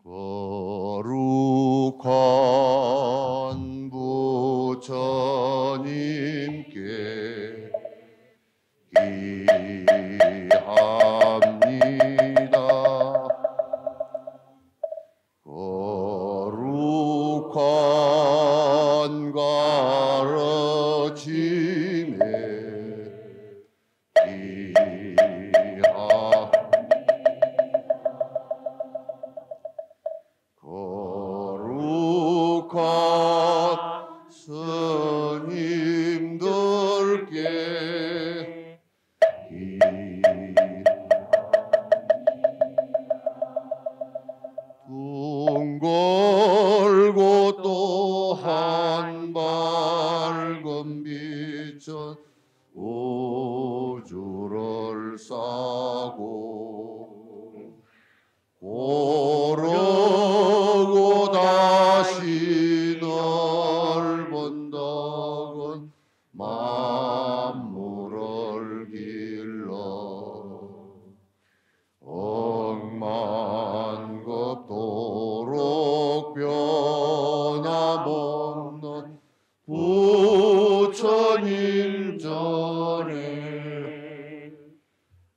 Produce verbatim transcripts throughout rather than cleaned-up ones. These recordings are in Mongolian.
거룩한 부처님께 기합니다. 거룩한 가르침에 기합 거룩한 스님들께 기 둥걸고 또 한 밝은 빛은 우주를 싸고 고르고 다시 넓은 덕은 만물을 길러 억만급도록 변함없는 부처님 전에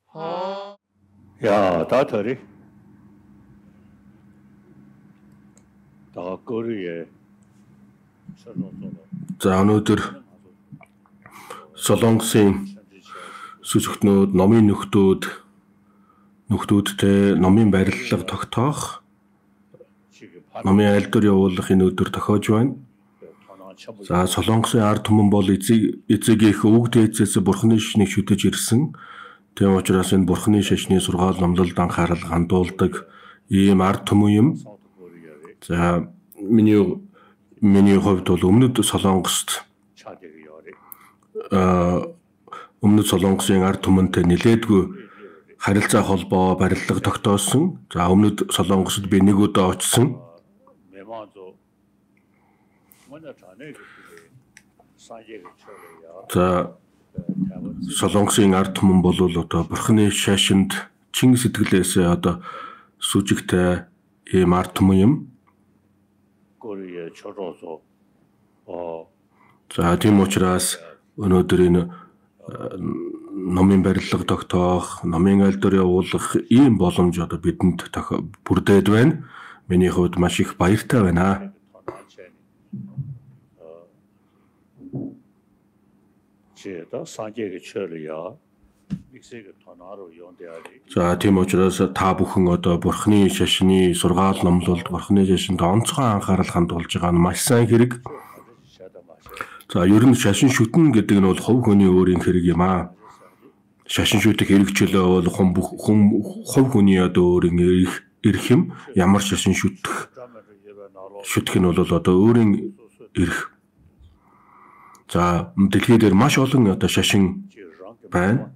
하... 야, 다터리 다거리에 За өнөөдөр Солонгосын сүзгтнүүд, номын нөхдүүд, нөхдүүдтэй номын барилга тогтоох, номын айлдвар явуулахын өдөр тохиож байна. За Солонгосын ард түмэн бол эцэг эцэг их өвөг дээдсээс бурхны шашныг шүтэж ирсэн. Тийм учраас энэ бурхны шашны сургаал номлолд анхаарал хандуулдаг ийм ард түмэн юм. За миний миний хувьд бол өмнөд Солонгост өмнөд Солонгосын ард түмэнтэй нэлээдгүй харилцаа холбоо барилга тогтоосон. За өмнөд Солонгосод би нэг удаа очсон. За Солонгосын ард түмэн бол одоо бурхны шашинд чин сэтгэлээсээ одоо сүжигтэй ийм ард түмэн юм. За тийм учраас өнөөдөр энэ номын барилга тогтоох, номын айлдвар явуулах ийм боломж одоо бидэнд бүрдээд байна. Миний хувьд маш их баяртай байна. За тийм учраас та бүхэн одоо бурхны шашны сургаал номлолд бурхны шашинд онцгой анхаарал хандуулж байгаа нь маш сайн хэрэг. За ер нь шашин шүтэн гэдэг нь бол хувь хүний өөрийн хэрэг юм аа. Шашин шүтэх хэрэгчлээ бол хүн хүн хувь хүний одоо өөрийн эрх юм. Ямар шашин шүтэх шүтэх нь бол одоо өөрийн эрх. За дэлхийд дээр маш олон одоо шашин байна.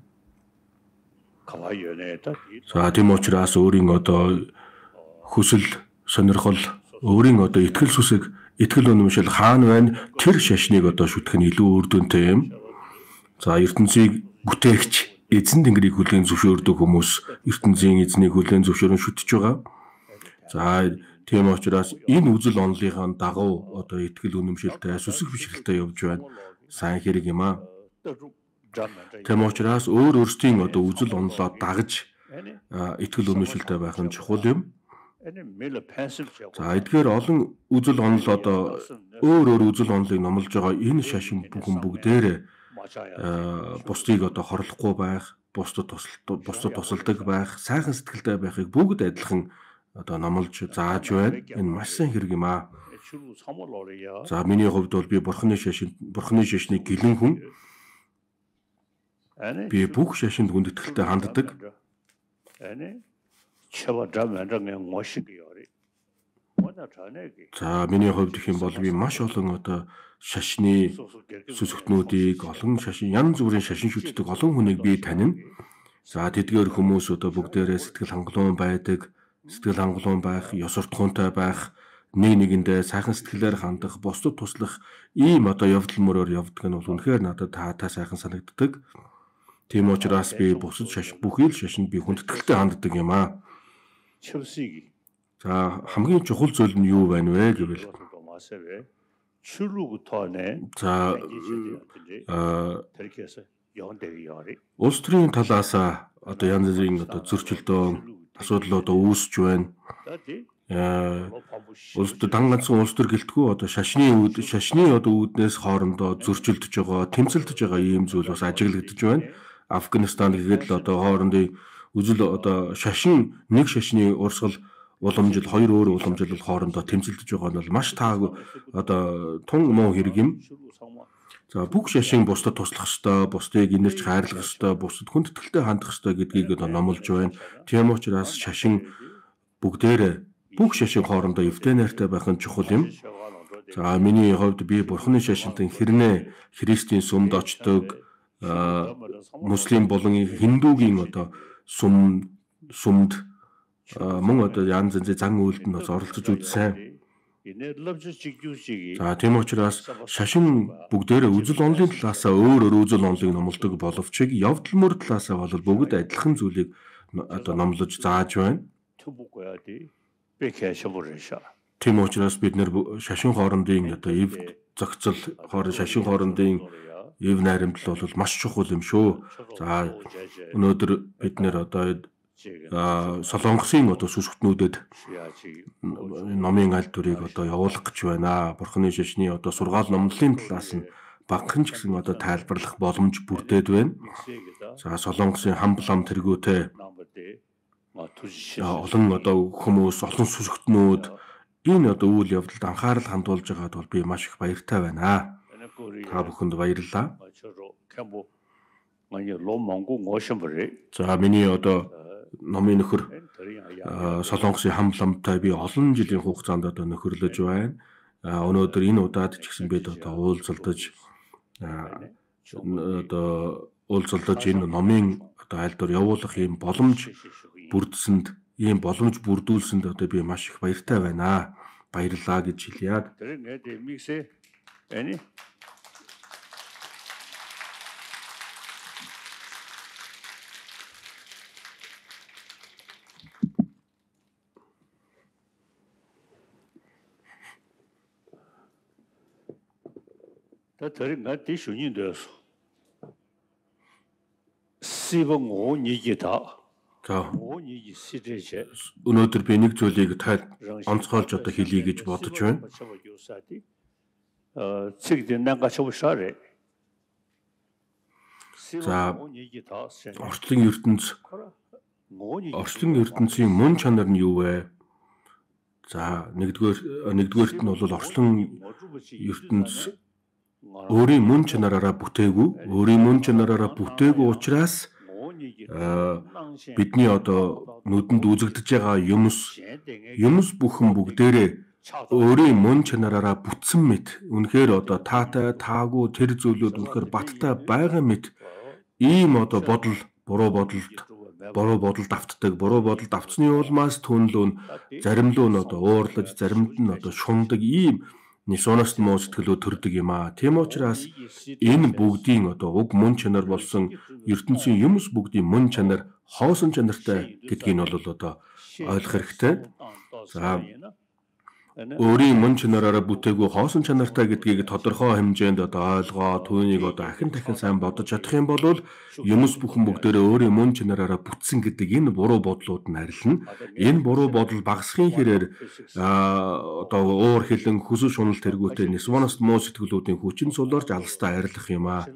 За тийм учраас өөрийн одоо хүсэл, сонирхол, өөрийн одоо итгэл сүсэг, итгэл үнэмшил хаана байна? Тэр шашныг одоо шүтэх нь илүү үр дүнтэй юм. За ертөнцийг бүтээгч эзэн тэнгэрийг хүлээн зөвшөөрдөг хүмүүс ертөнцийн эзнийг хүлээн зөвшөөрөн шүтэж байгаа. За тийм учраас энэ үзэл онолынхаа дагуу одоо итгэл үнэмшилтэй, сүсэг бишрэлтэй явж байна. Сайн хэрэг юм аа. Тийм учраас өөр өөрсдийн одоо үзэл онолоо дагаж итгэл үнэмшилтэй байх нь чухал юм. За эдгээр олон үзэл онол одоо өөр өөр үзэл онолыг номлож байгаа энэ шашин бүхэн бүгдээрээ бусдыг одоо хорлохгүй байх, бусдад тусалдаг, бусдад тусалдаг байх, сайхан сэтгэлтэй байхыг бүгд адилхан одоо номлож зааж байна. Энэ маш сайн хэрэг юм аа. За миний хувьд бол би бурхны шашин, бурхны шашныг гэлэн хүн. Би бүх шашинд хүндэтгэлтэй ханддаг. За миний хувьд гэх юм бол би маш олон одоо шашны сүсгтнүүдийг, олон шашин, янз бүрийн шашин шүтдэг олон хүнийг би танина. За тэдгээр хүмүүс одоо бүгдээрээ сэтгэл хангалуун байдаг, сэтгэл хангалуун байх, ёс суртахуунтай байх, нэг нэгэндээ сайхан сэтгэлээр хандах, бусдад туслах ийм одоо явдал мөрөөр явдаг нь бол үнэхээр надад таатай сайхан санагддаг. Тийм учраас би бусад шашин бүхий л шашинд би хүндэтгэлтэй ханддаг юм аа. За хамгийн чухал зүйл нь юу байна вэ гэвэл за улс төрийн талаас одоо янз бүрийн одоо зөрчилдөөн асуудал одоо үүсэж байна. Улс төр дан ганцхан улс төр гэлтгүй одоо шашны үүд шашны одоо үүднээс хоорондоо зөрчилдөж байгаа, тэмцэлдэж байгаа ийм зүйл бас ажиглагдж байна. Афганистан гэхэд л одоо хоорондын үзэл одоо шашин нэг шашны урсгал уламжил хоёр өөр уламжил хоорондоо тэмцэлдэж байгаа нь бол маш тааг одоо тун муу хэрэг юм. За бүх шашин бусдад туслах ёстой, бусдыг инэрч хайрлах ёстой, бусдад хүндэтгэлтэй хандах ёстой гэдгийг одоо номлож байна. Тийм учраас шашин бүгдээрээ бүх шашин хоорондоо эвтэй найртай байх нь чухал юм. За миний хувьд би бурхны шашинтан хэрнээ христийн сумд очдог, муслим болон хиндугийн одоо сум сумд мөн одоо янз янзын зан үйлдэнд бас оролцож үзсэн. За тийм учраас шашин бүгдээрээ үзэл онолын талаасаа өөр өөр үзэл онолыг номлодог боловч явдал мөр талаасаа бол бүгд адилхан зүйлийг одоо номлож зааж байна. Тийм учраас бид нэр шашин хоорондын одоо эв зохицол хооронд шашин хоорондын эв найрамдал бол маш чухал юм шүү. За өнөөдөр бид нэр одоо Солонгосын одоо сүсгтнүүдэд номын аль төрийг одоо явуулах гэж байна. Бурхны шашны одоо сургаал номлолын талаас нь багхан ч гэсэн одоо тайлбарлах боломж бүрдээд байна. За Солонгосын хамблам тэргүүтэй олон одоо хүмүүс, олон сүсгтнүүд энэ одоо үйл явдалд анхаарал хандуулж байгаад бол би маш их баяртай байна. Та бүхэнд баярлалаа. За миний одоо номын нөхөр Солонгосын хамбламтай би олон жилийн хугацаанд одоо нөхөрлөж байна. Өнөөдөр энэ удаад ч гэсэн бид одоо уулзалдаж одоо уулзалдаж энэ номын одоо аль дор явуулах юм боломж бүрдсэнд ийм боломж бүрдүүлсэнд одоо би маш их баяртай байна. Баярлалаа гэж хэлье. 다 들은 거 대신이 되었어. 시범 오니기다. За 오니기 시대제. өнөөдөр би нэг зүйлийг тайлбар онцгойлж одоо хэлье гэж бодож байна. 어, 책들 난가 쳐보셔래. За орчлон ертөнц орчлон ертөнцийн мөн чанар нь юу вэ? За нэгдүгээр нэгдүгээрт нь бол орчлон ертөнц өөрийн мөн чанараараа бүтээгүй, өөрийн мөн чанараараа бүтээгүй учраас бидний одоо нүдэнд үзэгдэж байгаа юмс юмс бүхэн бүгдээрээ өөрийн мөн чанараараа бүтсэн мэт үнэхээр одоо таатай таагүй тэр зүйлүүд үнэхээр баттай байгаа мэт ийм одоо бодол буруу бодолд буруу бодолд автдаг буруу бодолд автсны улмаас түнлүүн заримлуу нь одоо уурлаж заримд нь одоо шундаг ийм нисоноос муу сэтгэлөө төрдөг юм аа. Тийм учраас энэ бүгдийн одоо уг мөн чанар болсон ертөнцийн юмс бүгдийн мөн чанар хоосон чанартай гэдгийг нь бол одоо ойлгох хэрэгтэй. За өөрийн мөн чанараараа бүтээгүй хоосон чанартай гэдгийг тодорхой хэмжээнд одоо ойлгоо түүнийг одоо ахин дахин сайн бодож чадах юм бол юмс бүхэн бүгдээрээ өөрийн мөн чанараараа бүтсэн гэдэг энэ буруу бодлууд нь арилна. Энэ буруу бодол багасхын хэрээр одоо уур хилэн хүсэл шунал тэргүүтэй нисвоноос муу сэтгэлүүдийн хүчин суларж алстаа арилгах юм аа.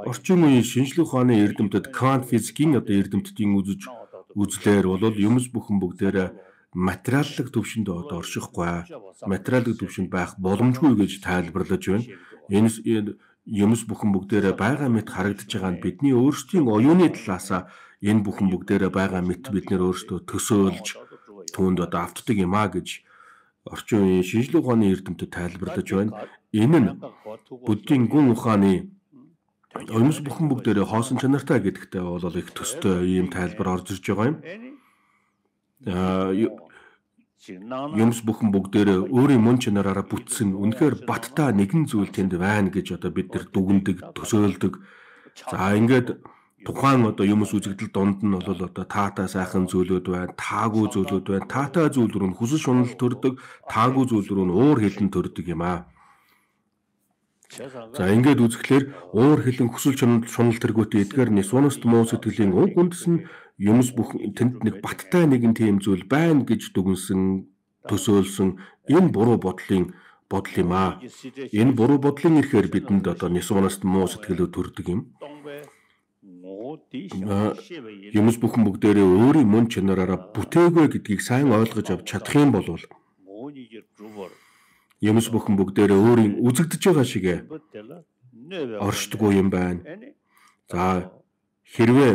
Орчин үеийн шинжлэх ухааны эрдэмтэд квант физикийн одоо эрдэмтдийн үзэж үзлээр бол юмс бүхэн бүгдээрээ материаллык төвшөнд одоо оршихгүй материаллык төвшөнд байх боломжгүй гэж тайлбарлаж байна. Энэ юмс бүхэн бүгдээрээ байгаа мэт харагдаж байгаа нь бидний өөрсдийн оюуны талаасаа энэ бүхэн бүгдээрээ байгаа мэт бид нэр өөрсдөө төсөөлж түүнд одоо автдаг юм а гэж орчин үеийн шинжлэх ухааны эрдэмтэд тайлбарлаж байна. Энэ нь буддийн гүн ухааны юмс бүхэн бүгдээрээ хоосон чанартай гэдэгтээ бол их төстэй ийм тайлбар орж ирж байгаа юм. Юмс бүхэн бүгдээрээ өөрийн мөн чанараараа бүтсэн үнэхээр баттай нэгэн зүйл тэнд байна гэж одоо бид нар дүгндэг, төсөөлдөг. За ингээд тухайн одоо юмс үзэгдэл донд нь бол одоо таатай сайхан зүйлүүд байна, таагүй зүйлүүд байна. Таатай зүйл рүү хүсэл шунал төрдөг, таагүй зүйл рүү уур хилэн төрдөг юм аа. За ингээд үзэхлээр уур хилэн хүсэл шунал шунал тэргүүтээ эдгээр нисвоност муу сэтгэлийн уг үндэс нь юмс бүх тэнд нэг баттай нэгэн тийм зүйл байна гэж дүгнсэн, төсөөлсөн энэ буруу бодлын бодол юм аа. Энэ буруу бодлын ихээр бидэнд одоо нисвоност муу сэтгэлүүд төрдөг юм. Юмс бүхэн бүгдээрээ өөрийн мөн чанараараа бүтээгүй гэдгийг сайн ойлгож авч чадах юм бол юмс бүхэн бүгдээрээ өөрийн үзэгдэж байгаа шиг оршдгүй юм байна. За хэрвээ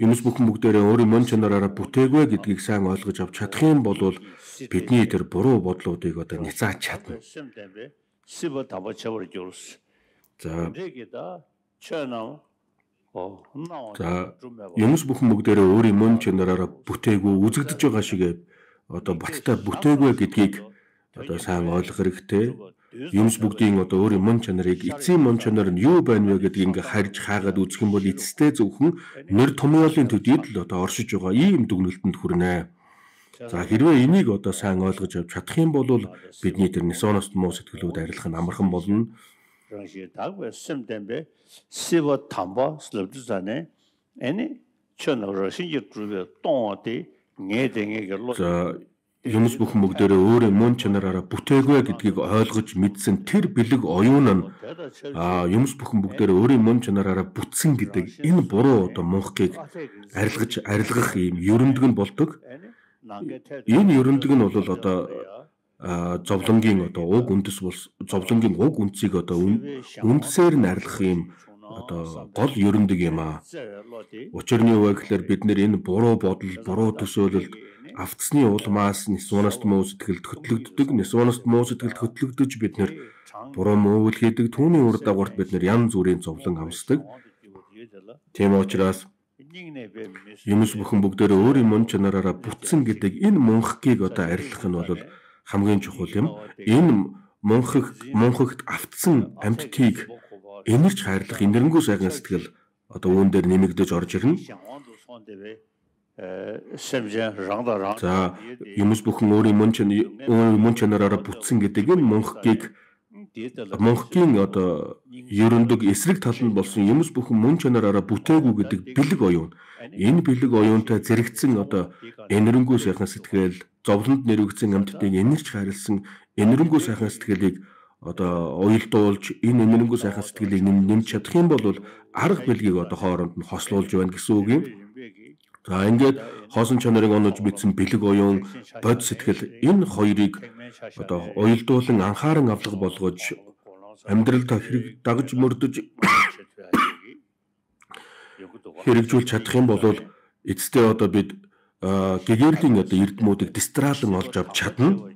юмс бүхэн бүгдээрээ өөрийн мөн чанараараа бүтээгүй гэдгийг сайн ойлгож авч чадах юм бол бидний тэр буруу бодлуудыг одоо ницааж чадна. За За юмс бүхэн бүгдээрээ өөрийн мөн чанараараа бүтээгүй үзэгдэж байгаа шиг одоо баттай бүтээгүй гэдгийг одоо сайн ойлгох хэрэгтэй. Юмс бүгдийн одоо өөрийн мөн чанарыг эцсийн мөн чанар нь юу байна вэ гэдгийг ингээ харж хаагаад үзэх юм бол эцэстээ зөвхөн нэр томьёолын төдийд л одоо оршиж байгаа ийм дүгнэлтэнд хүрнэ. За хэрвээ энийг одоо сайн ойлгож авч чадах юм бол бидний тэр нисвоност муу сэтгэлүүд арилгах нь амархан болно. За юмс бүхэн бүгдээрээ өөрийн мөн чанараараа бүтээгүй гэдгийг ойлгож мэдсэн тэр бэлэг оюун нь а юмс бүхэн бүгдээрээ өөрийн мөн чанараараа бүтсэн гэдэг энэ буруу одоо мунхгийг арилгаж арилгах юм ерөндөг нь болдог. Энэ ерөндөг нь бол одоо зовлонгийн одоо уг үндэс бол зовлонгийн уг үндсийг одоо үндсээр нь арилгах юм одоо гол ерөндөг юм аа. Учир нь юу вэ гэхээр бид нэр энэ буруу бодол, буруу төсөөлөлд автсны улмаас нисвоност муу сэтгэлд хөтлөгддөг, нисвоност муу сэтгэлд хөтлөгдөж бид нэр буруу муу үйл хийдэг, түүний үр дагаварт бид нэр янз бүрийн зовлон амсдаг. Тийм учраас юмс бүхэн бүгдээрээ өөрийн мөн чанараараа бүтсэн гэдэг энэ мунхгийг одоо арилгах нь бол хамгийн чухал юм. Энэ мунхаг мунхагт автсан амьтдыг энэрч хайрлах инэрэнгүй сайхан сэтгэл одоо үүн дээр нэмэгдэж орж ирнэ. За юмс бүхэн өөрийн мөн чанараараа мөн чанараараа бүтсэн гэдэг энэ мунхгийг мунхгийн одоо ерөндөг эсрэг тал нь болсон юмс бүхэн мөн чанараараа бүтээгүй гэдэг бэлэг оюун. Энэ бэлэг оюунтай зэрэгцсэн одоо энэрэнгүй сайхан сэтгэл, зовлонд нэрвэгдсэн амьтдыг энэрч хайрлсан энэрэнгүй сайхан сэтгэлийг одоо уялдуулж энэ энэрэнгүй сайхан сэтгэлийг нэмж чадах юм бол арга бэлгийг одоо хооронд нь хослуулж байна гэсэн үг юм. За ингээд хоосон чанарыг онож мэдсэн бэлэг оюун, бод сэтгэл энэ хоёрыг одоо уялдуулан анхааран авлага болгож амьдралдаа хэрэг дагж мөрдөж хэрэгжүүлж чадах юм бол эцэстээ одоо бид гэгэрлийн одоо эрдэмүүдийг дистраалан олж авч чадна.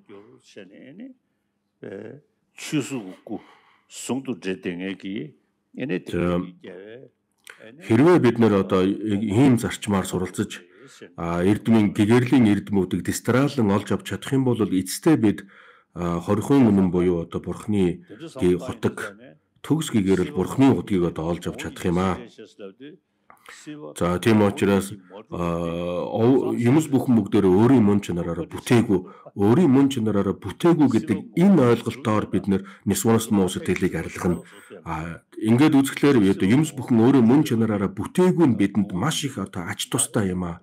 Хэрвээ бид нэр одоо ийм зарчмаар суралцаж эрдмийн гэгэрлийн эрдэмүүдийг дистраалан олж авч чадах юм бол эцэстээ бид хорихын үнэн буюу одоо бурхны хотог төгс гэгэрэл бурхны удгийг одоо олж авч чадах юм аа. За тийм учраас юмс бүхэн бүгдээрээ өөрийн мөн чанараараа бүтээгүй, өөрийн мөн чанараараа бүтээгүй гэдэг энэ ойлголтоор бид нисвоност муу сэтгэлийг арилгана. Ингээд үзэхлээр юмс бүхэн өөрийн мөн чанараараа бүтээгүй нь бидэнд маш их одоо ач тустай юм аа.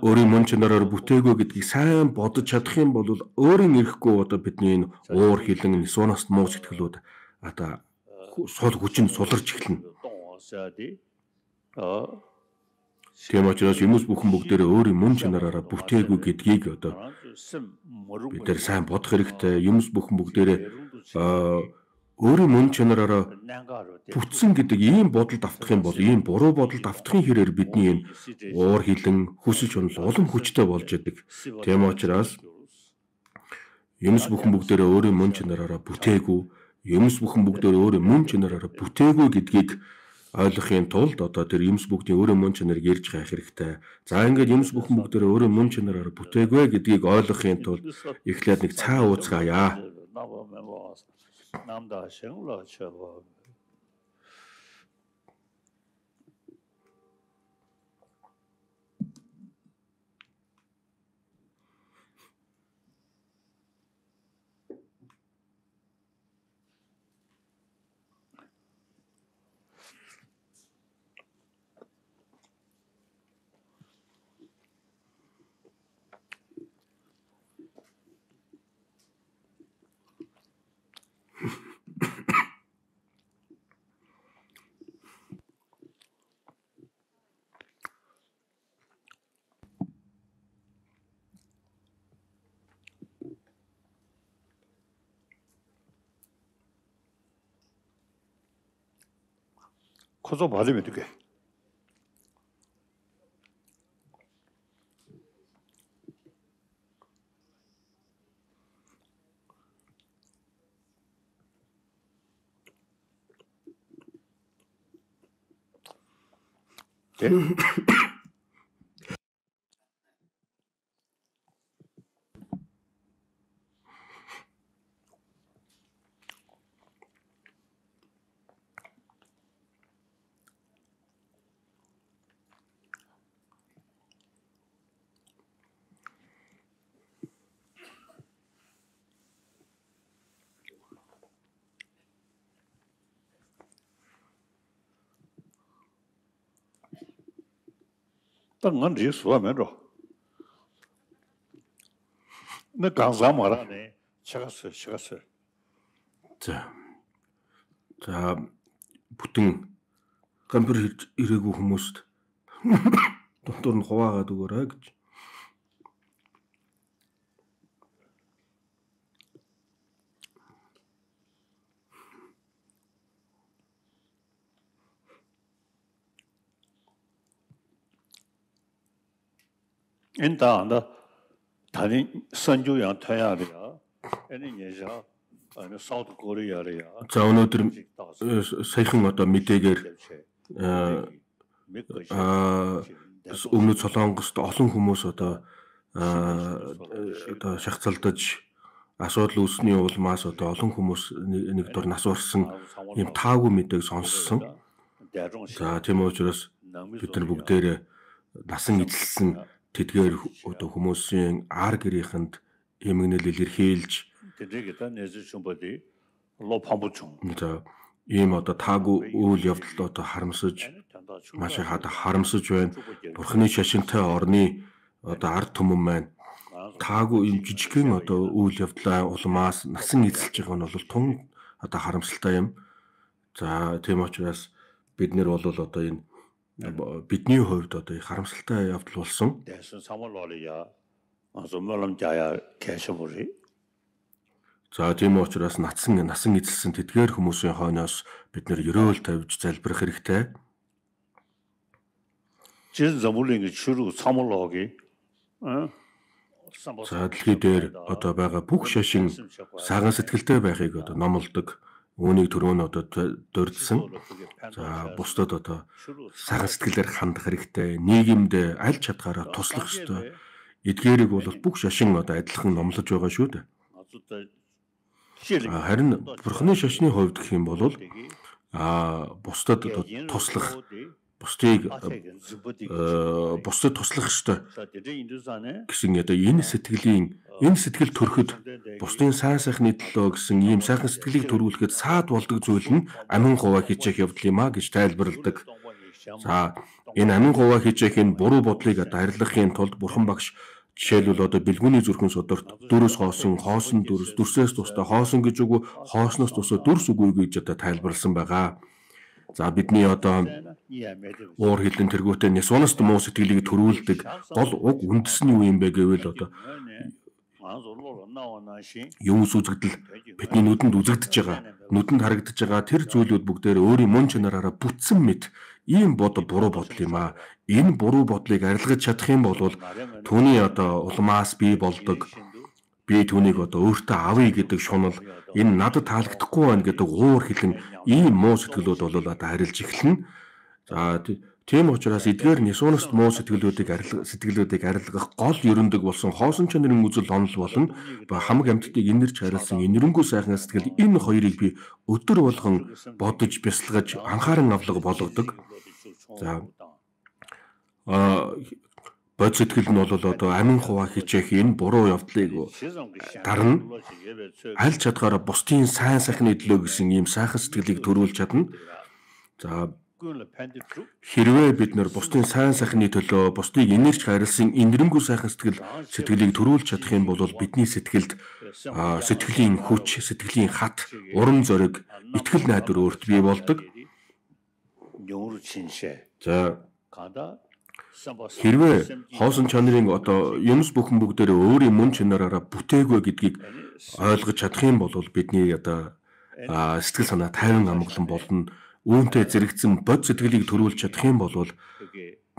Өөрийн мөн чанараар бүтээгүй гэдгийг сайн бодож чадах юм бол өөрийн ирэхгүй одоо бидний энэ уур хилэн нисвоност муу сэтгэлүүд одоо сул хүчин суларч эхэлнэ. Тийм учраас юмс бүхэн бүгдээрээ өөрийн мөн чанараараа бүтээгүй гэдгийг одоо бид нар сайн бодох хэрэгтэй. Юмс бүхэн бүгдээрээ өөрийн мөн чанараараа бүтсэн гэдэг ийм бодолд автах юм бол ийм буруу бодолд автахын хэрээр бидний энэ уур хилэн хүсэл шунал улам хүчтэй болж идэг. Тийм учраас юмс бүхэн бүгдээрээ өөрийн мөн чанараараа бүтээгүй, юмс бүхэн бүгдээрээ өөрийн мөн чанараараа бүтээгүй гэдгийг ойлгохын тулд одоо тэр юмс бүгдийн өөрийн мөн чанарыг ярьж хайх хэрэгтэй. За ингээд юмс бүхэн бүгдээрээ өөрийн мөн чанараараа бүтээгүй гэдгийг ойлгохын тулд эхлээд нэг цаа ууцгаая. 커서 받으면 되게. 네. 땅은 리수하면로. 나 강사 말하네. 시갔어, 시갔어. За. За бүтэн компьютер ирээгүй хүмүүст дотор нь хуваагаад өгөөрэй гэж. 인다 나 다른 선주양 태야리야. 애는 예자 아니 사우드 코리아리야. За өнөөдөр саяхан одоо мэдээгээр аа өмнөд Солонгост олон хүмүүс одоо одоо шахацалдаж асуудал үүсний улмаас одоо олон хүмүүс нэг дор нас урсан юм таагүй мэдээг сонссон. За тийм учраас бид нар бүгдээрээ насан эзэлсэн тэдгээр одоо хүмүүсийн ар гэрийнхэнд эмгэнэл илэрхийлж за ийм одоо таагүй үйл явдал одоо харамсаж маш их одоо харамсаж байна. Бурхны шашинтай орны одоо ард түмэн маань таагүй юм жижигхэн одоо үйл явдлаа улмаас насан эзэлж байгаа нь бол тун одоо харамсалтай юм. За тийм учраас бид нэр бол одоо энэ бидний хувьд одоо их харамсалтай явдал болсон. За тийм учраас натсан насан эзэлсэн тэдгээр хүмүүсийн хойноос бид нэр ерөөл тавьж залбирах хэрэгтэй. За дэлхий дээр одоо байгаа бүх шашин саган сэтгэлтэй байхыг одоо номлодог. Үүнийг түрүү нь одоо дурдсан. За бусдад одоо саган сэтгэлээр хандах хэрэгтэй. Нийгэмд аль чадгаараа туслах ёстой. Эдгээрийг бол бүх шашин одоо адилхан номлож байгаа шүү дээ. Харин Бурхны шашны хувьд гэх юм бол а бусдад туслах, бусдыг бусдад туслах ёстой гэсэн одоо энэ сэтгэлийн энэ сэтгэл төрөхөд бусдын сайн сайхны төлөө гэсэн ийм сайхан сэтгэлийг төрүүлэхэд саад болдог зүйл нь амин хуваа хийчих явдал юм а гэж тайлбарладаг. За энэ амин хуваа хийчих энэ буруу бодлыг одоо арилгахын тулд Бурхан багш жишээлбэл одоо бэлгүүний зүрхэн содорт дөрөс хоосон, хоосон дөрөс, дүрсээс тусдаа хоосон гэж үгүй, хоосноос тусдаа дүрс үгүй гэж одоо тайлбарласан байгаа. За бидний одоо уур хилэн тэргүүтээ нисунаст муу сэтгэлийг төрүүлдэг гол уг үндэс нь юу юм бэ гэвэл одоо юм үзэгдэл бидний нүдэнд үзэгдэж байгаа, нүдэнд харагдаж байгаа тэр зүйлүүд бүгдээр өөрийн мөн чанараараа бүтсэн мэт ийм бодол буруу бодол юм аа. Энэ буруу бодлыг арилгаж чадах юм бол түүний одоо улмаас бий болдог би түүнийг одоо өөртөө авъя гэдэг шунал энэ надад таалагдахгүй байна гэдэг уур хилэн ийм муу сэтгэлүүд бол одоо харилж эхэлнэ. За тийм учраас эдгээр нисунаст муу сэтгэлүүдийг арилгах сэтгэлүүдийг арилгах гол ерөндөг болсон хоосон чанарын үзэл онол болон хамаг амьтдыг инэрч харилсан инэрэнгүй сайхан сэтгэл энэ хоёрыг би өдөр болгон бодож бясалгаж анхааран авлага болгодог. За а бод сэтгэл нь бол одоо амин хуваа хичээх энэ буруу явдлыг дарна аль чадгаараа бусдын сайн сайхны төлөө гэсэн ийм сайхан сэтгэлийг төрүүлж чадна. За хэрвээ бид нар бусдын сайн сайхны төлөө бусдыг инэрч харилсан инэрэнгүй сайхан сэтгэл сэтгэлийг төрүүлж чадах юм бол бидний сэтгэлд сэтгэлийн хүч, сэтгэлийн хат, урам зориг, итгэл найдвар өөрт бий болдог. За хэрвээ хоосон чанарын одоо юмс бүхэн бүгдээрээ өөрийн мөн чанараараа бүтээгүй гэдгийг ойлгож чадах юм бол бидний одоо сэтгэл санаа тайван амгалан болно. үүнтэй зэрэгцэн бод сэтгэлийг төрүүлж чадах юм бол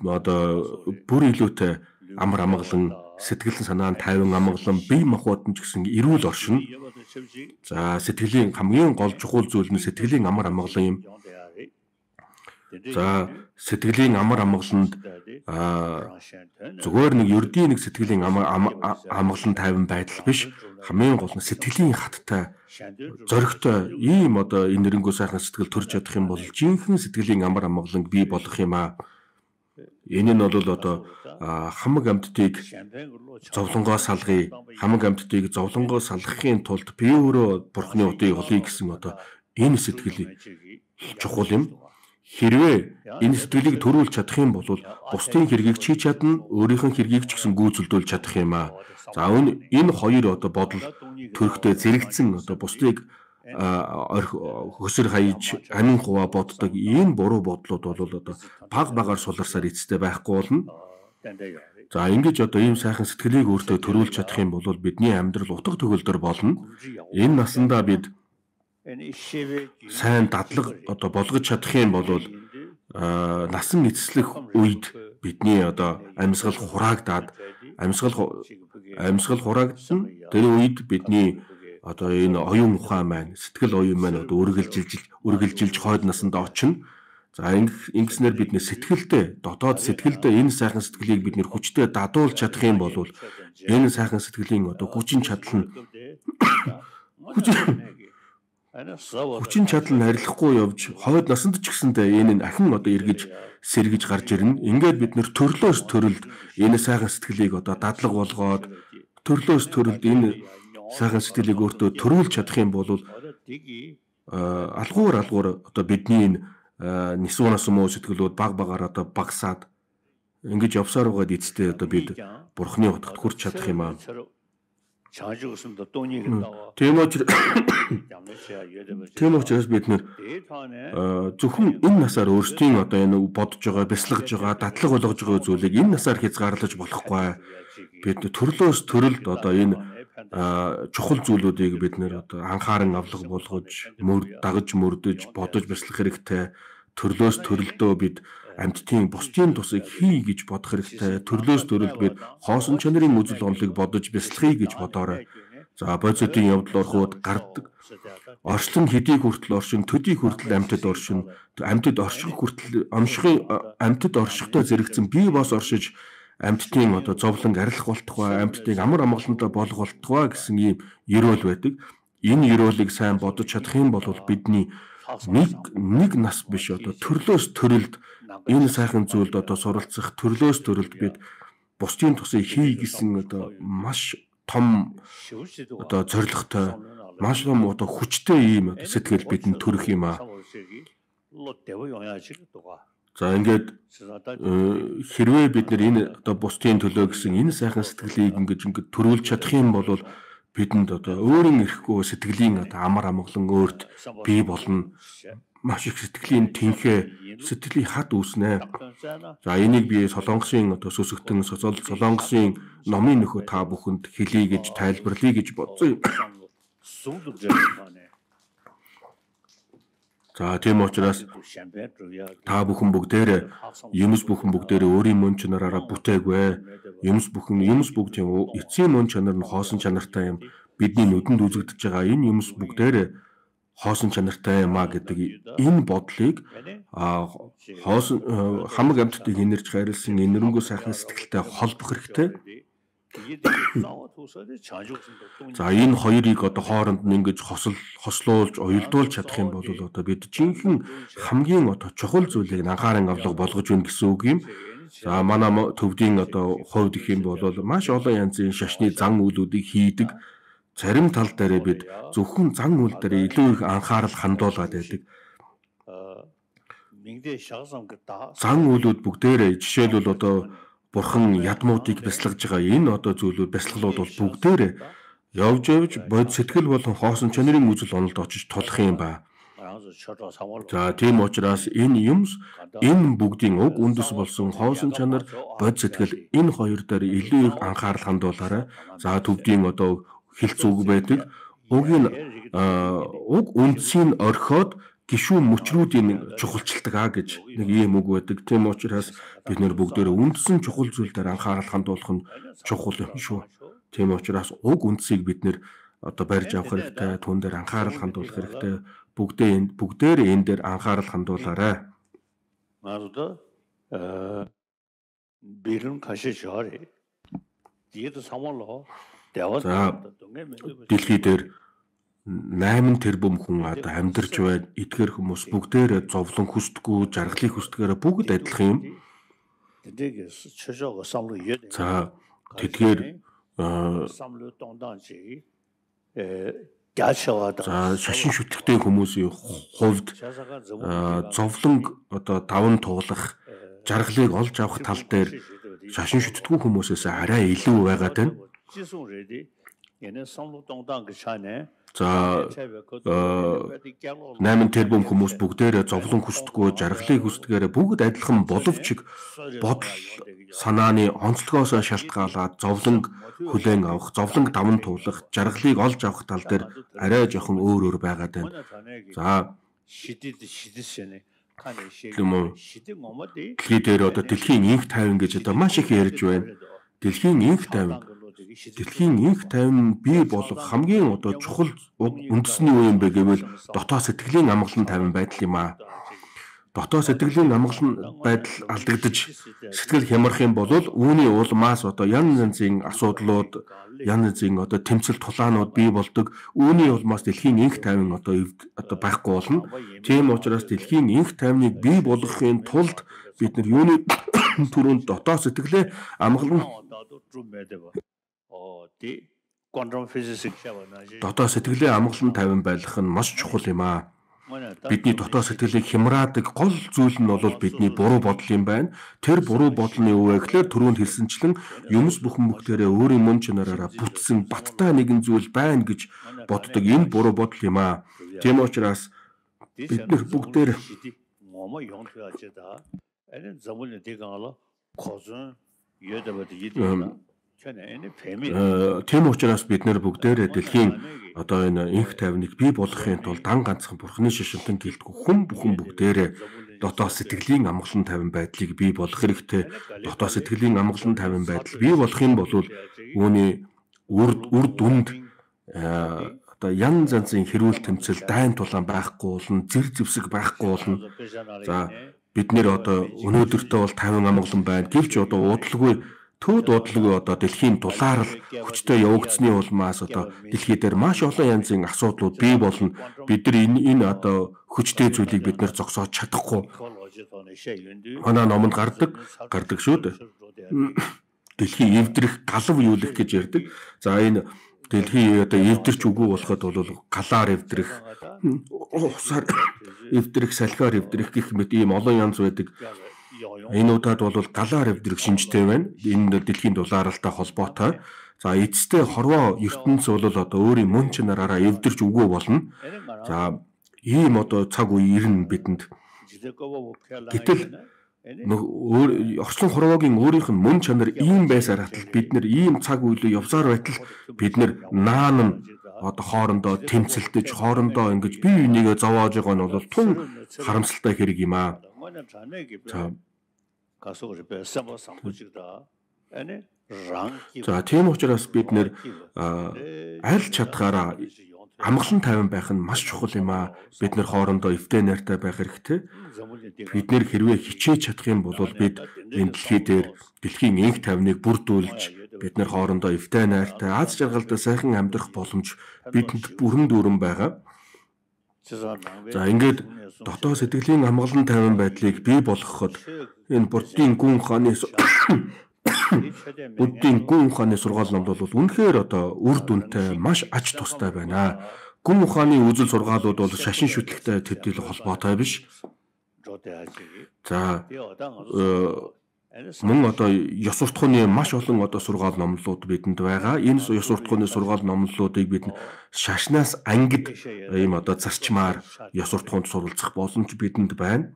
одоо бүр илүүтэй амар амгалан сэтгэл санаанд тайван амгалан бие махбод нь ч гэсэн эрүүл оршин. За сэтгэлийн хамгийн гол чухал зүйл нь сэтгэлийн амар амгалан юм. За сэтгэлийн амар амгаланд зүгээр нэг ердийн нэг сэтгэлийн амар амгалан тайван байдал биш. Хамгийн гол нь сэтгэлийн хаттай зоригтой ийм одоо энэ нэрнгөө сайхан сэтгэл төрж чадах юм бол жинхэнэ сэтгэлийн амар амгаланг бий болох юм аа. Энэ нь бол одоо хамаг амьтдыг зовлонгоос салгая. Хамаг амьтдыг зовлонгоос салгахын тулд би өөрөө бурхны удыг олъё гэсэн одоо энэ сэтгэл чухал юм. Хэрвээ энэ сэтгэлийг төрүүлж чадах юм бол бусдын хэргийг чи чадна, өөрийнх нь хэргийг ч гэсэн гүйцэлдүүлж чадах юм аа. За энэ хоёр одоо бодол төрхтэй зэрэгцэн одоо бусдыг хөсөр хаяж амин хуваа боддог энэ буруу бодлууд бол одоо баг багаар суларсаар эцэстээ байхгүй болно. За ингэж одоо ийм сайхан сэтгэлийг өөртөө төрүүлж чадах юм бол бидний амьдрал утга төгөлдөр болно. Энэ насандаа бид сайн дадлаг одоо болгож чадах юм бол насан эцэслэх үед бидний одоо амьсгал хураагдаад амьсгал амьсгал хураагдсан тэр үед бидний одоо энэ оюун ухаан маань сэтгэл оюун маань одоо үргэлжилж үргэлжилж хойд насанд очино. За ингэснээр бид нэ сэтгэлдээ дотоод сэтгэлдээ энэ сайхан сэтгэлийг бид нэр хүчтэй дадуулж чадах юм бол энэ сайхан сэтгэлийн одоо хүчин чадал нь хүчин чадал нь арилахгүй явж хойд насанд ч гэсэндээ энэ нь ахин одоо эргэж сэргэж гарч ирнэ. Ингээд бид нэр төрлөөс төрөлд энэ сайхан сэтгэлийг одоо дадлаг болгоод төрлөөс төрөлд энэ сайхан сэтгэлийг өөртөө төрүүлж чадах юм бол алгуур алгуур одоо бидний энэ нисуунаас муу сэтгэлүүд баг багаар одоо багсаад ингэж явсаар байгаад эцтэй одоо бид бурхны утгад хүрч чадах юм аа. Тийм учраас тийм учраас бид нэр зөвхөн энэ насаар өөрсдийн одоо энэ бодож байгаа, бясалгаж байгаа, дадлаг болгож байгаа зүйлийг энэ насаар хязгаарлаж болохгүй. Бид төрлөөс төрөлд одоо энэ чухал зүйлүүдийг бид нэр одоо анхааран авлага болгож, мөр дагаж мөрдөж, бодож бясалгах хэрэгтэй. Төрлөөс төрөлдөө бид амьтдын бусдын тусыг хий гэж бодох хэрэгтэй. Төрлөөс төрөлд бид хоосон чанарын үзэл онолыг бодож бясалгахыг гэж бодоорой. За бодисодын явдал ороход гардаг. Орчлон хэдийг хүртэл оршин, төдийг хүртэл амьтад оршин, амьтад орших хүртэл амшихын амьтад оршихтой зэрэгцэн бие бос оршиж амьтдын одоо зовлон арилах болтугай, амьтдыг амар амгалантай болох болтугай гэсэн ийм ерөөл байдаг. Энэ ерөөлийг сайн бодож чадах юм бол бидний нэг нэг нас биш одоо төрлөөс төрөлд энэ сайхан зүйлд одоо суралцах төрлөөс төрөлд бид бусдын тусыг хий гэсэн одоо маш том одоо зорилготой маш том одоо хүчтэй ийм сэтгэл бидэнд төрөх юм аа. За ингээд хэрвээ бид нэр энэ одоо бусдын төлөө гэсэн энэ сайхан сэтгэлийг ингэж ингэж төрүүлж чадах юм бол бидэнд одоо өөрийн эрэхгүй сэтгэлийн одоо амар амгалан өөрт бий болно. Маш их сэтгэлийн тэнхээ, сэтгэлийн хад үүснэ. За энийг би Солонгосын одоо сүсгтэн Солонгосын номын нөхөө та бүхэнд хэлье гэж тайлбарлая гэж бодсон. За тийм учраас та бүхэн бүгдээрээ юмс бүхэн бүгдээрээ өөрийн мөн чанараараа бүтээгүй. Юмс бүхэн юмс бүгд юм эцсийн мөн чанар нь хоосон чанартай юм. Бидний нүдэнд үзэгдэж байгаа энэ юмс бүгдээрээ хоосон чанартай юм а гэдэг энэ бодлыг хоосон хамаг амьтдыг инэрч хайрлсан инэрэнгөө сайхан сэтгэлтэй холбох хэрэгтэй. За энэ хоёрыг одоо хооронд нь ингэж хосол хослуулж уялдуулж чадах юм бол одоо бид жинхэнэ хамгийн одоо чухал зүйлийг анхааран авлага болгож өгнө гэсэн үг юм. За манай төвдийн одоо хувьд гэх юм бол маш олон янзын шашны зан үйлүүдийг хийдэг. Зарим тал дээр бид зөвхөн зан үйл дээр илүү их анхаарал хандуулгаад байдаг. Зан үйлүүд бүгдээрээ жишээлбэл одоо Бурхан ядмуудыг бясалгаж байгаа энэ одоо зүйлүүд бясалгалууд бол бүгдээрээ явж явж бод сэтгэл болон хоосон чанарын үзэл онолд очиж тулах юм ба. За тийм учраас энэ юмс энэ бүгдийн уг үндэс болсон хоосон чанар бод сэтгэл энэ хоёр дээр илүү их анхаарал хандуулаарай. За төвдийн одоо хэлц үг байдаг. Уг нь уг үндсийг орхиод гишүүн мөчрүүдийн чухалчилдаг аа гэж нэг ийм үг байдаг. Тийм учраас бид нэр бүгдээрээ үндсэн чухал зүйл дээр анхаарал хандуулах нь чухал юм шүү. Тийм учраас уг үндсийг бид нэр одоо барьж авах хэрэгтэй, түн дээр анхаарал хандуулах хэрэгтэй. Бүгдээ энд бүгдээрээ энэ дээр анхаарал хандуулаарай. 나도 어 비른 가시 저리 뒤에도 사mol로 대화 Дэлхий дээр найман тэрбум хүн одоо амьдарч байна. Эдгээр хүмүүс бүгдээрээ зовлон хүсдэггүй, жаргалыг хүсдгээрээ бүгд адилхан юм. За тэдгээр за шашин шүтгэдэг хүмүүсийн хувьд зовлон одоо даван туулах, жаргалыг олж авах тал дээр шашин шүтдэггүй хүмүүсээс арай илүү байгаад байна. За найман тэрбум хүмүүс бүгдээрээ зовлон хүсдэггүй, жаргалыг хүсдгээрээ бүгд адилхан боловч бодол санааны онцлогоос шалтгаалаад зовлон хүлээн авах, зовлон даван туулах, жаргалыг олж авах тал дээр арай жоохон өөр өөр байгаад байна. За дэлхий дээр одоо дэлхийн инх тайван гэж одоо маш их ярьж байна. Дэлхийн инх тайван Дэлхийн инх тайван бий болох хамгийн одоо чухал үндэсний үе юм бэ гэвэл дотоод сэтгэлийн амгалан тайван байдал юм аа. Дотоод сэтгэлийн амгалан байдал алдагдаж сэтгэл хямрах юм бол үүний улмаас одоо янз янзын асуудлууд, янз янзын одоо тэмцэл тулаанууд бий болдог. Үүний улмаас дэлхийн инх тайван одоо одоо байхгүй болно. Тийм учраас дэлхийн инх тайвныг бий болгохын тулд бид нар юуны түрүүнд дотоод сэтгэлээ амгалан дотоод сэтгэлийн амгалан тайван байх нь маш чухал юм аа. Бидний дотоод сэтгэлийг хямраадаг гол зүйл нь бол бидний буруу бодол юм байна. Тэр буруу бодлын юу вэ гэхээр түрүүнд хэлсэнчлэн юмс бүхэн бүгдээрээ өөрийн мөн чанараараа бүтсэн баттай нэгэн зүйл байна гэж боддог. Энэ буруу бодол юм аа. Тийм учраас бид нар бүгдээр тийм учраас бид нэр бүгдээрээ дэлхийн одоо энэ инх тайвныг бий болгохын тулд дан ганцхан бурхны шишинтэн гэлтгүй хүн бүхэн бүгдээрээ дотоод сэтгэлийн амгалан тайван байдлыг бий болгох хэрэгтэй. Дотоод сэтгэлийн амгалан тайван байдал бий болох юм бол үүний үр үр дүнд одоо янз янзын хэрүүл тэмцэл дайн тулаан байхгүй болно, зэр зэвсэг байхгүй болно. За бид нэр одоо өнөөдөртөө бол тайван амгалан байна. Гэвч одоо удалгүй төвд удалгүй одоо дэлхийн дулаарл хүчтэй явагдсны улмаас одоо дэлхий дээр маш олон янзын асуудлууд бий болно. Бид нар энэ энэ одоо хүчтэй зүйлийг бид нэр зогсоож чадахгүй. Манай номонд гардаг гардаг шүү дээ. Дэлхийн эвдрэх, галав юулах гэж ярьдаг. За энэ дэлхий одоо эвдэрч үгүй болоход бол галаар эвдрэх, усаар эвдрэх, салхиар эвдрэх гэх мэт ийм олон янз байдаг. Энэ удаад бол галаар эвдрэх шинжтэй байна. Энэ дэлхийн дулааралтай холбоотой. За эцэстээ хорвоо ертөнц бол одоо өөрийн мөн чанараараа эвдэрч үгүй болно. За ийм одоо цаг үе ирнэ бидэнд. Гэтэл орчлон хорвоогийн өөрийнх нь мөн чанар ийм байсаар хатал бид нэр ийм цаг үеийг явсаар байтал бид нэр наан нь одоо хоорондоо тэмцэлдэж хоорондоо ингэж бие бинийгээ зовоож байгаа нь бол тун харамсалтай хэрэг юм аа. За тийм учраас бид нэр аль чадхаараа амгалан тайван байх нь маш чухал юм аа. Бид нэр хоорондоо эвтэй найртай байх хэрэгтэй. Бид нэр хэрвээ хичээж чадах юм бол бид энэ дэлхий дээр дэлхийн инх тайвныг бүрдүүлж бид нэр хоорондоо эвтэй найртай аз жаргалтай сайхан амьдрах боломж бидэнд бүрэн дүүрэн байгаа. За ингээд дотоод сэтгэлийн амгалан тайван байдлыг бий болгоход энэ Буддийн гүн ухааны Буддийн гүн ухааны сургаал номд бол үнэхээр одоо үр дүнтэй маш ач тустай байна. Гүн ухааны үзэл сургаалууд бол шашин шүтлэгтэй төдийл холбоотой биш. За мөн одоо ёс суртахууны маш олон одоо сургаал номлууд бидэнд байгаа. Энэ ёс суртахууны сургаал номлуудыг бид шашнаас ангид ийм одоо зарчмаар ёс суртахуунд суралцах боломж бидэнд байна.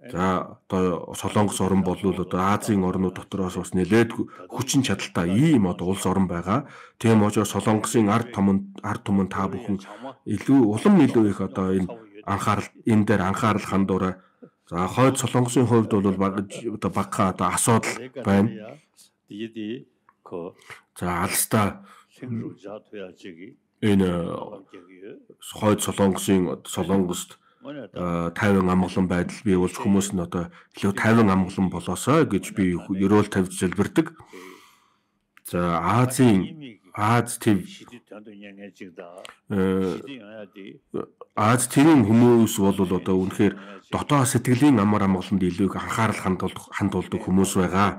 За одоо Солонгос орн бол одоо Азийн орнууд дотроос бас нэлээд хүчин чадалтай ийм одоо улс орн байгаа. Тийм учраас Солонгосын ард түмэн ард түмэн та бүхэн илүү улам илүү их одоо энэ анхаарал энэ дээр анхаарал хандуурай. За хойд Солонгосын хувьд бол баг одоо багахан одоо асуудал байна. За алстаа энэ хойд Солонгосын Солонгост тайван амгалан байдал бий болж хүмүүс нь одоо илүү тайван амгалан болоосоо гэж би ерөөл тавьж залбирдаг. За Азийн Аз төв Аз төвийн хүмүүс бол одоо үнэхээр дотоод сэтгэлийн амар амгаланд илүү их анхаарал хандуулдаг хандуулдаг хүмүүс байгаа.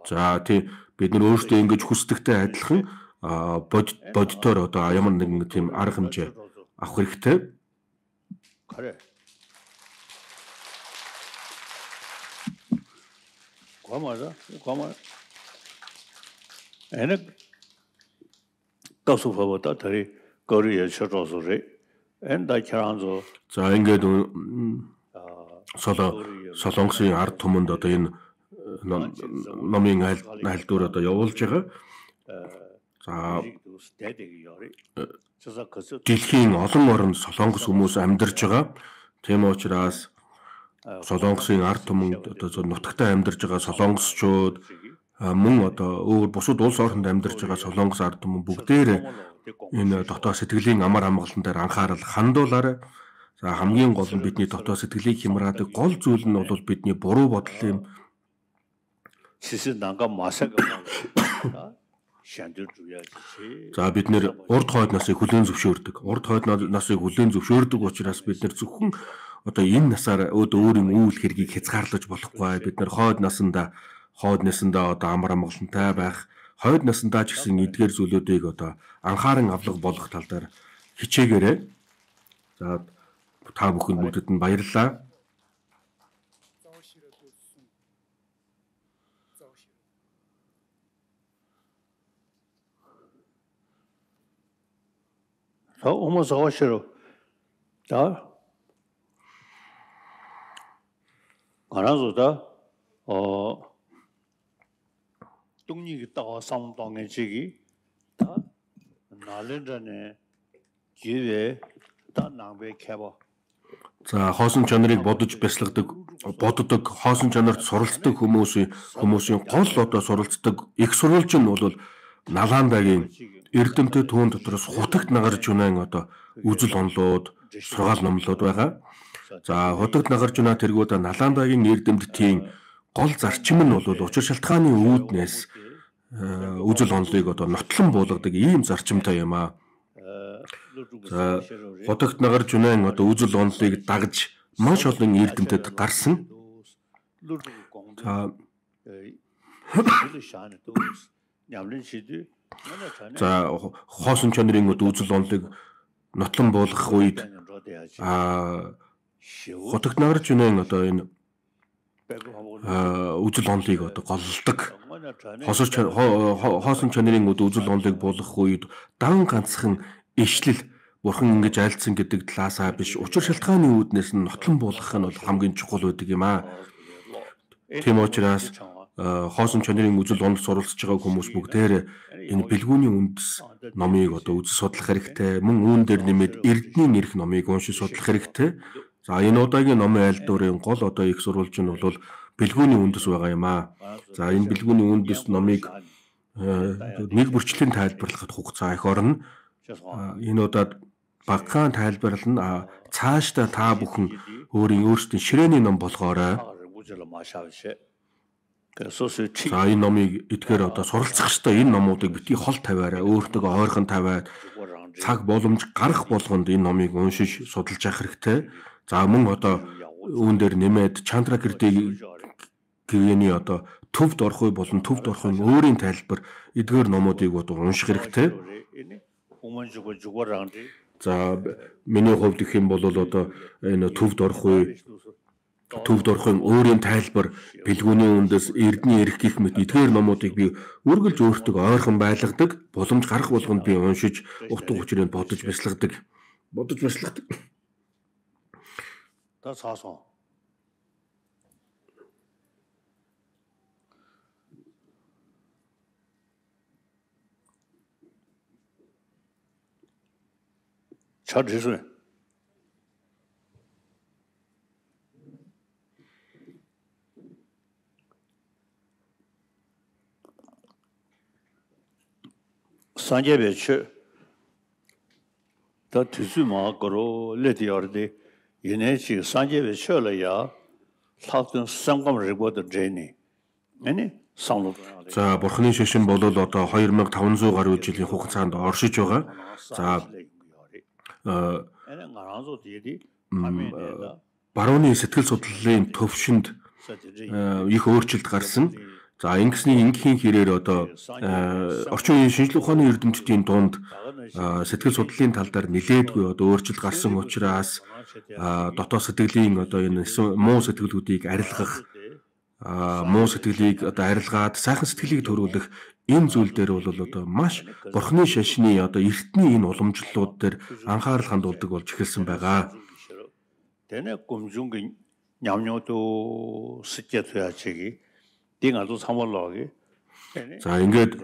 За тий бид нар өөрсдөө ингэж хүсдэгтэй адилхан бодитоор одоо ямар нэгэн тийм арга хэмжээ авах хэрэгтэй. Гомара, гомара. Энэг тасууфавата тари Корея шоосорэ. Энда чаранзо. За ингээд соло Солонгосын ард түмэнд одоо энэ номын айлдвар одоо явуулж байгаа. За дэлхийн олон орнд Солонгос хүмүүс амьдарч байгаа. Тийм учраас Солонгосын ард түмэнд одоо нутагтаа амьдарч байгаа солонгосчууд мөн одоо өөр бусад улс орнд амьдарч байгаа солонгос ард түмэн бүгдээр энэ дотоод сэтгэлийн амар амгалан дээр анхаарал хандуулаарай. За хамгийн гол нь бидний дотоод сэтгэлийг хямраадаг гол зүйл нь бол бидний буруу бодол юм. За бид нэр урд хойд насыг хүлээн зөвшөөрдөг. Урд хойд насыг хүлээн зөвшөөрдөг учраас бид нэр зөвхөн одоо энэ насаар өөрийн үйл хэргийг хязгаарлаж болохгүй. Бид нэр хойд насандаа хойд насандаа одоо амар амгалантай байх, хойд насандаа ч гэсэн эдгээр зүйлүүдийг одоо анхааран авлага болгох тал дээр хичээгээрэй. За та бүхэнд бүгдэд нь баярлалаа. 자, 어머 저거시로. 자. 알아서다. 어. 뚱이 있다가 상동의 지기. 다 날렌전에 기회 다 낭배 캐봐. За хоосон чанарыг бодож бясалгадаг, боддог, хоосон чанарт суралцдаг хүмүүсийн хүмүүсийн гол одоо суралцдаг их сурвалж нь бол Наландагийн Эрдэмтэд түүн дотроос хутагт нагарж унаан одоо үзэл онолууд, сургаал номлууд байгаа. За хутагт нагарж унаа тэргүүд Наландагийн Эрдэмтдийн гол зарчим нь бол учир шалтгааны үүднээс үзэл онолыг одоо нотлон буулгадаг ийм зарчимтай юм аа. За хутагт нагарж унаан одоо үзэл онолыг дагж маш олон Эрдэмтэд гарсан. За За хоосон чанарын үзэл онолыг нотлон буулгах үед а хутагт нагарж унаан одоо энэ үзэл онолыг одоо голлдог. Хоосон чанарын үзэл онолыг буулгах үед дан ганцхан ишлэл бурхан ингэж айлцсан гэдэг талаасаа биш учир шалтгааны үүднээс нь нотлон буулгах нь бол хамгийн чухал байдаг юм аа. Тийм учраас хоосон чанарын үзэл онол суралцж байгаа хүмүүс бүгдээр энэ бэлгүүний үндэс номыг одоо үзэж судлах хэрэгтэй. Мөн үүн дээр нэмээд Эрдэнийн эрх номыг уншиж судлах хэрэгтэй. За энэ удаагийн номын айлдварын гол одоо их сурвалж нь бол бэлгүүний үндэс байгаа юм аа. За энэ бэлгүүний үндэс номыг нэг бүрчлэн тайлбарлахад хугацаа их орно. Энэ удаад багахан тайлбарлана. Цаашдаа та бүхэн өөрийн өөрсдийн ширээний ном болгоорой. За энэ номыг эдгээр одоо суралцах хэрэгтэй. Энэ номуудыг битгий хол тавиараа, өөртөө ойрхон тавиад цаг боломж гарах болгонд энэ номыг уншиж судалж явах хэрэгтэй. За мөн одоо үүн дээр нэмээд Чандракирти гэгэний одоо төвд орохыг болон төвд орохын өөрийн тайлбар эдгээр номуудыг одоо унших хэрэгтэй. За миний хувьд гэх юм бол одоо энэ төвд орох үе төвд орохын өөрийн тайлбар бэлгүүний үндэс Эрдэнийн эрх гэх мэт эдгээр номуудыг би үргэлж өөртөө ойрхон байлгадаг, боломж гарах болгонд би уншиж утга учирыг бодож бясалгадаг. Бодож бясалгадаг. Та цаасан. 잘 됐어요. 산재배치 더 뒤수마 거로 레디어데 얘네지 산재배치라야 사든 상감을 해보던 제니 아니 상로 За бурхны шашин бол одоо two thousand five hundred гаруй жилийн хугацаанд оршиж байгаа. За энийг гараазуу диэди хамээда барууны сэтгэл судлалын төвшөнд их өөрчлөлт гарсан. За ингэсний ингийн хэрээр одоо орчин үеийн шинжлэх ухааны эрдэмтдийн дунд сэтгэл судлалын тал дээр нилээдгүй одоо өөрчлөлт гарсан учраас дотоод сэтгэлийн одоо энэ муу сэтгэлүүдийг арилгах муу сэтгэлийг одоо арилгаад сайхан сэтгэлийг төрүүлэх энэ зүйл дээр бол одоо маш бурхны шашны одоо эртний энэ уламжлалууд дээр анхаарал хандуулдаг болж эхэлсэн байгаа. Тэне гомжунгийн нямнёто сэтгэтяачги 딩아도 삼월로기. За ингээд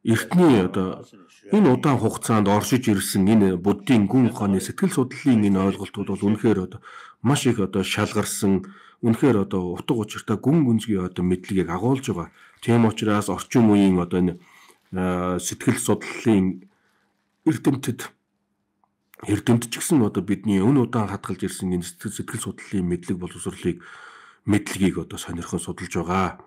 эртний одоо энэ удаан хугацаанд оршиж ирсэн энэ буддийн гүн ухааны сэтгэл судлалын энэ ойлголтууд бол үнэхээр одоо маш их одоо шалгарсан, үнэхээр одоо утга учиртай гүн гүнзгий одоо мэдлэгийг агуулж байгаа. Тийм учраас орчин үеийн одоо энэ сэтгэл судлалын эрдэмтэд эрдэмтд ч гэсэн одоо бидний өн удаан хадгалж ирсэн энэ сэтгэл судлалын мэдлэг боловсролыг мэдлэгийг одоо сонирхон судалж байгаа.